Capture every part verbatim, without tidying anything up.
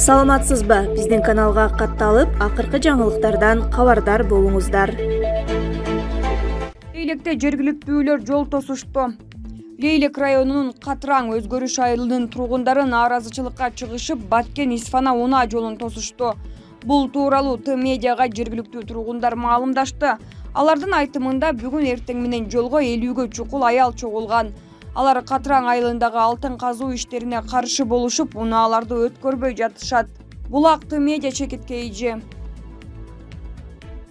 Саламатсызбы? Биздин каналга катталып, акыркы жаңылыктардан кабардар болуңуздар. Лейлекте жергиликтүүлөр жол тосушту. Лейлек районунун Катраң өзгөрүш айылынын тургундары нааразычылыкка чыгышып, Баткен-Исфана унаа жолун тосушту. Бул тууралуу Т медиага жергиликтүү тургундар маалымдашты. Алардын айтымында бүгүн эртең менен жолго элүүгө чукул аял чогулган. Алар Катраң айылындагы алтын казуу иштерине каршы болушуп, унааларды өткөрбөй жатышат. Булак Т медиа чекиткейжи.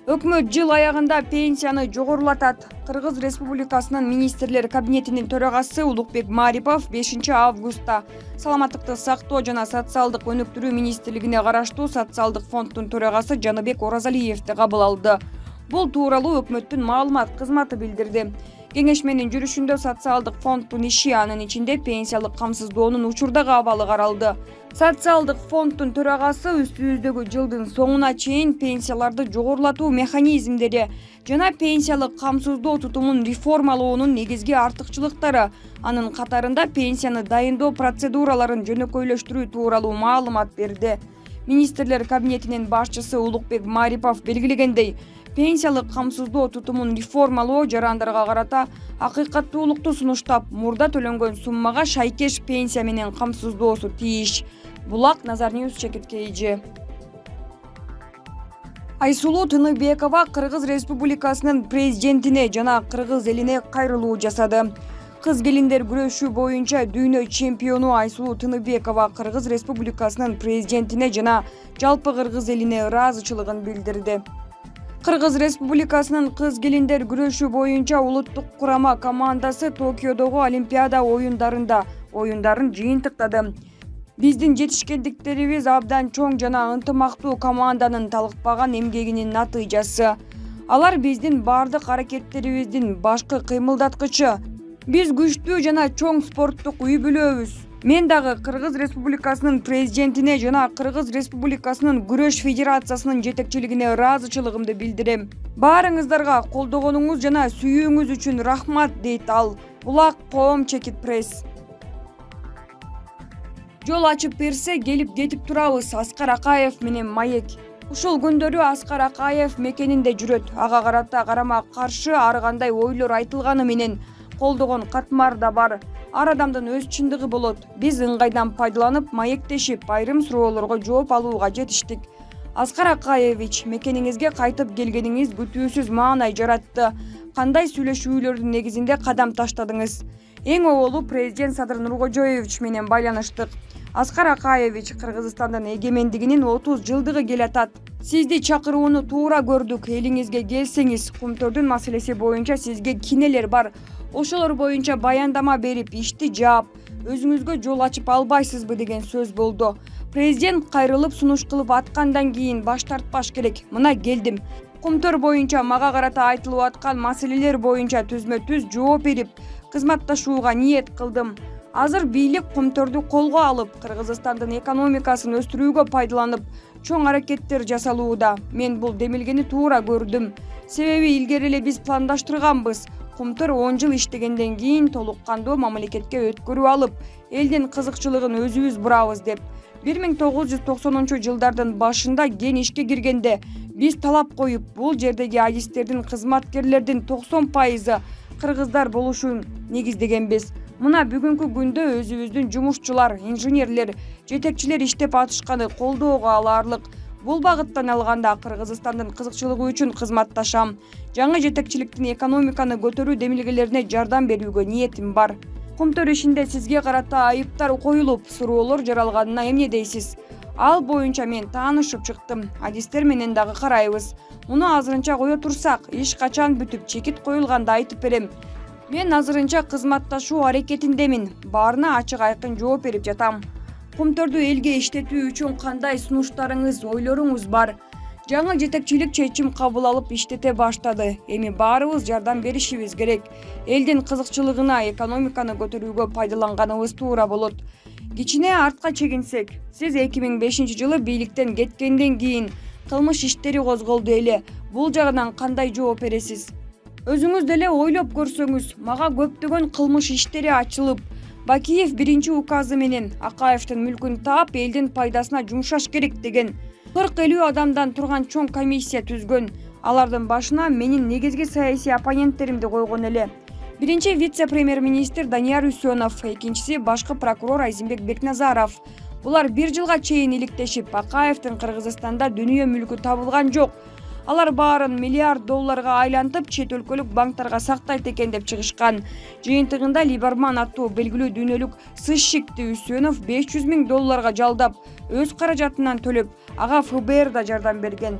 Өкмөт жыл аягында пенсияны жогорулатат. Кыргыз Республикасынын министрлер кабинетинин төрагасы Улукбек Марипов бешинчи августта Саламаттыкты сактоо жана социалдык өнүктүрүү министрлигине караштуу социалдык фонддун төрагасы Жаныбек Оразалиевди кабыл алды. Бул тууралуу өкмөттүн маалымат кызматы билдирди. Кеңешменин жүрүшүндө социалдык фонддун иши, анын ичинде пенсиялык камсыздоонун учурдагы абалы каралды. Социалдык фонддун төрагасы үстүбүздөгү жылдын соңуна чейин пенсияларды жогорулатуу механизмдери жана пенсиялык камсыздоо тутумун реформалоонун негизги артыкчылыктары, анын катарында пенсияны дайындоо процедураларын жөнөкөйлөштүрүү тууралуу маалымат берди. Министрлер кабинетинин башчысы Улукбек Марипов белгилегендей, пенсиялык камсыздоо тутумун реформалоо жарандарга карата акыйкаттуулукту сунуштап, мурда төлөнгөн суммага шайкеш пенсия менен камсыздоосу тийиш. Булак Назар Ньюс чекиткейжи. Айсулуу Тыныбекова Кыргыз Республикасынын президентине жана кыргыз элине кайрылуу жасады. Кыз келиндер күрөшүү боюнча дүйнө чемпиону Айсулуу Тыныбекова Кыргыз Республикасынын президентине жана жалпы кыргыз элине ыраазычылыгын билдирди. Кыргыз Республикасынын кыз келиндер күрөшүү боюнча улуттук курама командасы Токиодогу Олимпиада оюндарында оюндарын жыйынтыктады. Биздин жетишкендиктерибиз абдан чоң жана ынтымактуу команданын талыкпаган эмгегинин натыйжасы. Алар биздин бардык аракеттерибиздин башкы кыймылдаткычы. Биз күчтүү жана чоң спорттук үй бүлөбүз. Мен дагы Кыргыз Республикасынын президентине жана Кыргыз Республикасынын күрөш федерациясынын жетекчилигине ыраазычылыгымды билдирем. Баарыңыздарга колдогонуңуз жана сүйүүңүз үчүн рахмат, дейт ал. Булак Коом Чекит пресс. Жол ачып берсе, келип кетип турабыз. Аскар Акаев менен Маек. Ушул күндөрү Аскар Акаев мекенинде жүрөт. Ага карата карама каршы ар кандай ойлор айтылганы менен колдогон катмар да бар. Ар адамдын өз чындыгы болот. Биз ыңгайдан пайдаланып, маектешип, айрым суроолорго жооп алууга жетиштик. Аскар Акаевич, мекениңизге кайтып келгениңиз күтүүсүз маанай жаратты. Кандай сүйлөшүүлөрдүн негизинде кадам таштадыңыз? Эң оолу президент Садыр Нуркожоевич менен байланыштык. Аскар Акаевич, Кыргызстандын эгемендигинин отуз жылдыгы келатат. Сизди чакырууну туура көрдүк. Элиңизге келсеңиз, Кумтөрдүн маселеси боюнча сизге кинелер бар. Ошолор боюнча баяндама берип, ишти жаап, өзүңүзгө жол ачып албайсызбы деген сөз болду. Президент кайрылып сунуш кылып аткандан кийин баш тартпаш керек. Мына келдим. Кумтөр боюнча мага карата айтылып аткан маселелер боюнча түзмө-түз жооп берип, кызматташууга ниет кылдым. Азыр бийлик Кумтөрдү колго алып, Кыргызстандын экономикасын өстүрүүгө пайдаланып, чоң аракеттер жасалууда. Мен бул демилгени туура көрдүм. Себеби илгери эле биз пландаштырганбыз. Кумтөр он жыл иштегенден кийин толук кандуу мамлекетке өткөрүп алып, элдин кызыкчылыгын өзүбүз бурабыз деп. бир миң тогуз жүз токсонунчу жылдардын башында кен ишке киргенде биз талап коюп, бул жердеги адистердин, кызматкерлердин токсон пайызы кыргыздар болушун негиздегенбиз. Мына бүгүнкү күндө өзүбүздүн жумушчулар, инженерлер, жетекчилер иштеп атышканы колдоого алаарлык. Бул багыттан алганда Кыргызстандын кызыкчылыгы үчүн кызматташам. Жаңы жетекчиликтин экономиканы көтөрүү демилгелерине жардам берүүгө ниетим бар. Кумтөр ишинде сизге карата айыптар коюлуп, суроолор жаралганына эмне дейсиз? Ал боюнча мен таанышып чыктым. Адистер менен дагы карайбыз. Муну азырынча кое турсак, иш качан бүтүп, чекит коюлганда айтып берем. Мен азырынча кызматташуу аракетиндемин. Баарына ачык айкын жооп берип жатам. Кумтөрдү элге иштетүү үчүн кандай сунуштарыңыз, ойлоруңуз бар? Жаңы жетекчилик чечим кабыл алып иштете баштады. Эми баарыбыз жардам беришибиз керек. Элдин кызыкчылыгына, экономиканы көтөрүүгө пайдаланганыбыз туура болот. Кичине артка чегинсек, сиз эки миң бешинчи жылы бийликтен кеткенден кийин кылмыш иштери козголду эле. Бул жагынан кандай жооп бересиз? Өзүңүз деле ойлоп көрсөңүз, мага көптөгөн кылмыш иштери ачылып, Бакиев биринчи указы менен Акаевдин мүлкүн таап, элдин пайдасына жумшаш керек деген кырк элүү адамдан турган чоң комиссия түзгөн. Алардын башына менин негизги саясий оппоненттеримди койгон эле. Биринчи вице-премьер-министр Данияр Үсөнов, экинчиси башкы прокурор Айзимбек Бекназаров. Булар бир жылга чейин иликтешип, Акаевдин Кыргызстанда дүнүйө мүлкү табылган жок. Алар баарын миллиард долларга айлантып, чет өлкөлүк банктарга сактайт экен деп чыгышкан. Жыйынтыгында Либерман аттуу белгилүү дүйнөлүк сыщикти Үсөнов беш жүз миң долларга жалдап, өз каражатынан төлөп, ага эф бэ эр да жардам берген.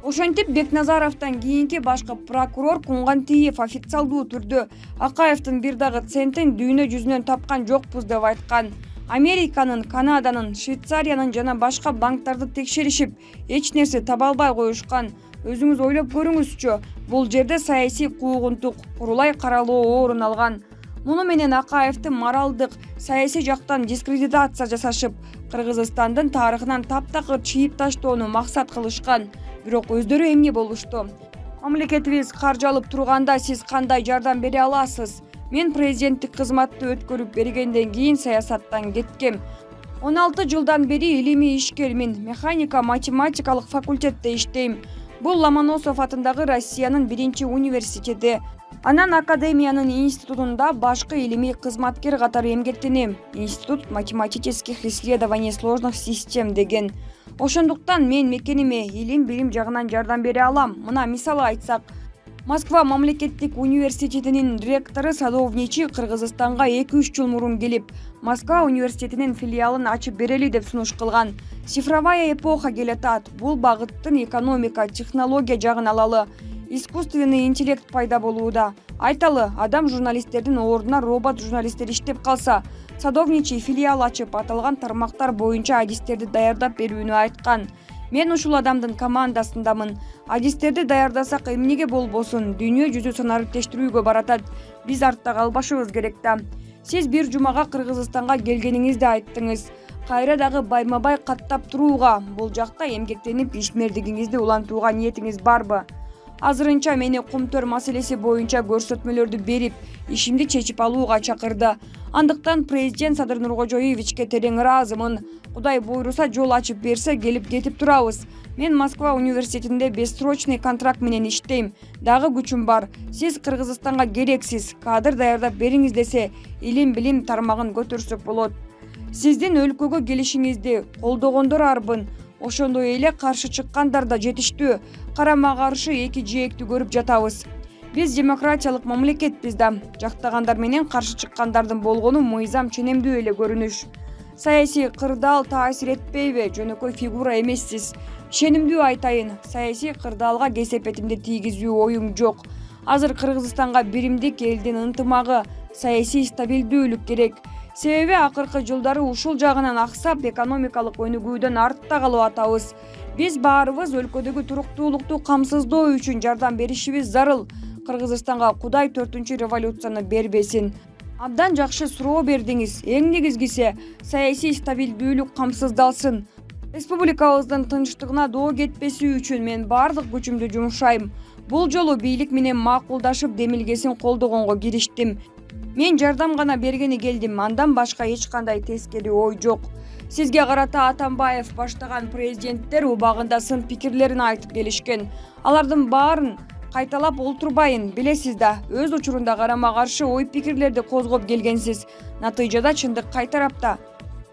Ошентип Бекназаровдон кийинки башкы прокурор Кунгантиев официалдуу түрдө Акаевдин бир дагы центин дүйнө жүзүнөн тапкан жокпуз деп айткан. Американын, Канаданын, Швейцариянын жана башка банктарды текшеришип, эч нерсе таба албай коюшкан. Өзүңүз ойлоп көрүңүзчү, бул жерде саясий куугунтук, курулай каралоо орун алган. Муну менен Акаевди моралдык, саясий жактан дискредитация жасашып, Кыргызстандын тарыхынан таптакыр чийип таштоону максат кылышкан. Бирок өздөрү эмне болушту? Мамлекетибиз каржы алып турганда сиз кандай жардам бере аласыз? Мен президенттик кызматты өткөрүп бергенден кийин саясаттан кеткем. он алты жылдан бери илимий ишкермин, механика математикалык факультетте иштейм. Бул Ломоносов атындагы Россиянын биринчи университети. Анан академиянын институтунда башкы илимий кызматкер катары эмгектенем. Институт математических исследований сложных систем деген. Ошондуктан мен мекениме илим билим жагынан жардам бере алам. Мына мисалы айтсак, Москва мамлекеттик университетинин ректору Садовничий Кыргызстанга эки үч жыл мурун келип, Москва университетинин филиалын ачып берели деп сунуш кылган. Цифровая эпоха келатат. Бул багыттын экономика, технология жагын алалы. Искусственный интеллект пайда болууда. Айталы, адам журналисттердин ордуна робот журналисттер иштеп калса, Садовничий филиал ачып, аталган тармактар боюнча адистерди даярдап берүүнү айткан. Мен ушул адамдын командасындамын. Адистерди даярдасак эмнеге болбосун, дүйнө жүзү санариптештирүүгө баратат. Биз артта калбашыбыз керек да. Сиз бир жумага Кыргызстанга келгениңизди айттыңыз. Кайра дагы байма-бай каттап турууга, бул жакта эмгектенип ишмердигиңизди улантууга ниетиңиз барбы? Азырынча мени Кумтөр маселеси боюнча көрсөтмөлөрдү берип, ишимди чечип алууга чакырды. Андыктан президент Садыр Нуркожоевичке терең ыраазымын. Кудай буйруса жол ачып берсе, келип кетип турабыз. Мен Москва университетинде бессрочный контракт менен иштейм. Дагы күчүм бар. Сиз Кыргызстанга керексиз. Кадр даярдап бериңиз десе, илим билим тармагын көтөрсөк болот. Сиздин өлкөгө келишиңизди колдогондор арбын. Ошондой эле каршы чыккандар да жетиштүү. Карама каршы эки жээкти көрүп жатабыз. Биз демократиялык мамлекетпиз да. Жактагандар менен каршы чыккандардын болгону мыйзам ченемдүү эле көрүнүш. Саясий кырдаал таасир этпейби? Жөнөкөй фигура эмессиз. Ишенимдүү айтайын, саясий кырдаалга кесепетимди тийгизүү оюм жок. Азыр Кыргызстанга биримдик, элдин ынтымагы, саясий стабилдүүлүк керек. Себеби акыркы жылдары ушул жагынан аксап, экономикалык өнүгүүдөн артта калып атабыз. Биз баарыбыз өлкөдөгү туруктуулукту камсыздоо үчүн жардам беришибиз зарыл. Кыргызстанга Кудай төртүнчү революцияны бербесин. Абдан жакшы суроо бердиңиз. Эң негизгиси саясий стабилдүүлүк камсыздалсын. Республикабыздын тынчтыгына доо кетпеси үчүн мен бардык күчүмдү жумшайм. Бул жолу бийлик менен макулдашып демилгесин колдогонго кириштим. Мен жардам гана бергени келдим, андан башка эч кандай тескери ой жок. Сизге карата Атамбаев баштаган президенттер убагында сын пикирлерин айтып келишкен. Алардын баарын кайталап олтурбайын, билесиз да, өз учурунда карама каршы ой пикирлерди козгоп келгенсиз. Натыйжада чындык кай тарапта.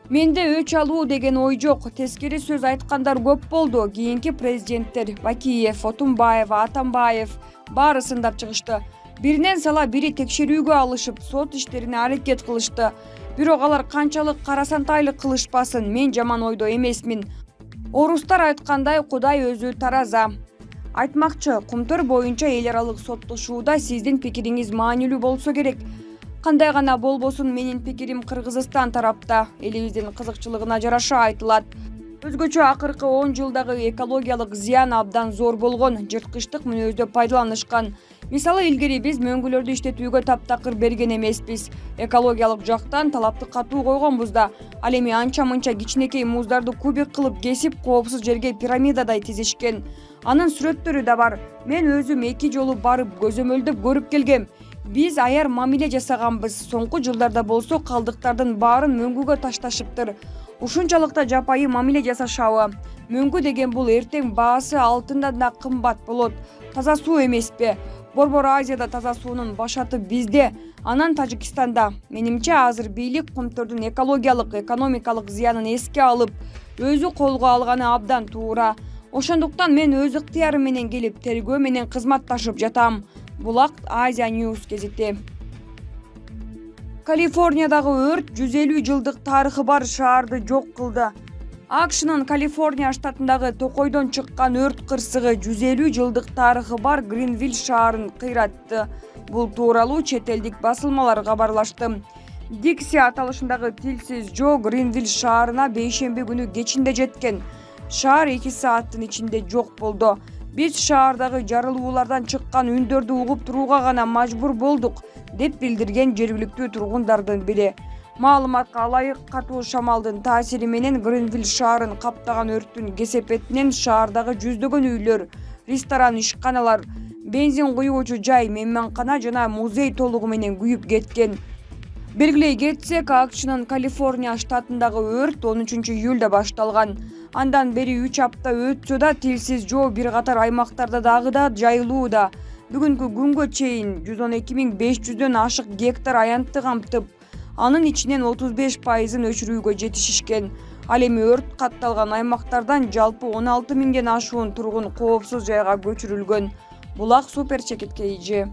Менде өч алуу деген ой жок. Тескери сөз айткандар көп болду. Кийинки президенттер Бакиев, Отунбаев, Атамбаев баары сындап чыгышты. Биринен сала бири текшерүүгө алышып, сот иштерине аракет кылышты. Бирок алар канчалык карасантайлык кылышпасын, мен жаман ойдо эмесмин. Орустар айткандай, Кудай өзү тараза. Айтмакчы, Кумтөр боюнча эл аралык соттошууда сиздин пикириңиз маанилүү болсо керек. Кандай гана болбосун, менин пикирим Кыргызстан тарапта, элибиздин кызыкчылыгына жараша айтылат. Өзгөчө акыркы он жылдагы экологиялык зыян абдан зор болгон, жырткычтык мүнөздө пайдаланышкан. Мисалы, илгери биз мөңгүлөрдү иштетүүгө таптакыр берген эмеспиз. Экологиялык жактан талапты катуу койгонбуз да. Ал эми анча-мынча кичинекей муздарды кубик кылып кесип, коопсуз жерге пирамидадай тизишкен. Анын сүрөттөрү да бар. Мен өзүм эки жолу барып көзөмөлдөп көрүп келгем. Биз аяр мамиле жасаганбыз. Соңку жылдарда болсо калдыктардын баарын мөңгүгө ташташыптыр. Ушунчалык да жапайы мамиле жасашабы? Мөңгү деген бул эртең баасы алтындан да кымбат болот. Таза суу эмеспи? Борбор Азияда таза суунун башаты бизде, анан Тажикстанда. Менимче азыр бийлик Кумтөрдүн экологиялык, экономикалык зыянын эске алып, өзү колго алганы абдан туура. Ошондуктан мен өз ыктыярым менен келип, тергөө менен кызматташып жатам. Булак Азия News гезити. Калифорниядагы өрт жүз элүү жылдык тарыхы бар шаарды жок кылды. АКШнын Калифорния штатындагы токойдон чыккан өрт кырсыгы жүз элүү жылдык тарыхы бар Гринвилл шаарын кыйратты. Бул тууралуу чет элдик басылмалар кабарлашты. Дикси аталышындагы тилсиз жоо Гринвилл шаарына бейшемби күнү кечинде жеткен. Шаар эки сааттын ичинде жок болду. Биз шаардагы жарылуулардан чыккан үндөрдү угуп турууга гана мажбур болдук, деп билдирген жергиликтүү тургундардын бири. Маалыматка ылайык, катуу шамалдын таасири менен Гринвилл шаарын каптаган өрттүн кесепетинен шаардагы жүздөгөн үйлөр, ресторан, ишканалар, бензин куюучу жай, мейманкана жана музей толугу менен күйүп кеткен. Белгилей кетсек, АКШнын Калифорния штатындагы өрт он үчүнчү июлда башталган. Андан бери үч апта өтсө да тилсиз жоо бир катар аймактарда дагы да жайылууда. Бүгүнкү күнгө чейин жүз он эки миң беш жүздөн ашык гектар аянтты камтып, анын ичинен отуз беш пайызын өчүрүүгө жетишишкен. Ал эми өрт катталган аймактардан жалпы он алты миңден ашуун тургун коопсуз жайга көчүрүлгөн. Булак Супер Чекит Кей Жи.